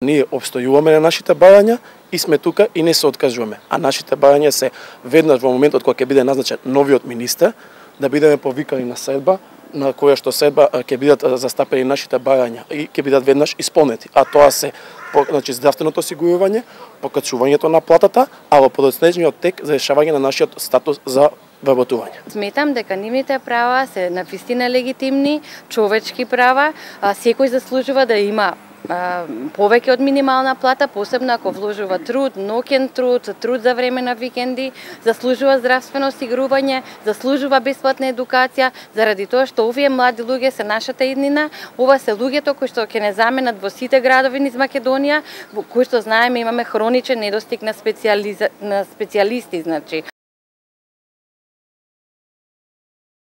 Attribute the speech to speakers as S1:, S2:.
S1: Ние обстојуваме на нашите барања и сме тука и не се откажуваме. А нашите барања се веднаш во моментот кога ќе биде назначен новиот министер, да бидеме повикани на седба, на која што седба ќе бидат застапени нашите барања и ќе бидат веднаш исполнети. А тоа се значи здравственото осигурување, покачувањето на платата, а во подоцнежниот тек за решавање на нашиот статус за вработување.
S2: Сметам дека нивните права се навистина легитимни, човечки права, секој заслужува да има повеќе од минимална плата, посебно ако вложува труд, ноќен труд, труд за време на викенди, заслужува здравствено осигурување, заслужува бесплатна едукација, заради тоа што овие млади луѓе се нашата иднина, ова се луѓето кои што ќе не заменат во сите градови низ Македонија, кои што знаеме имаме хроничен недостиг на специјалисти, значи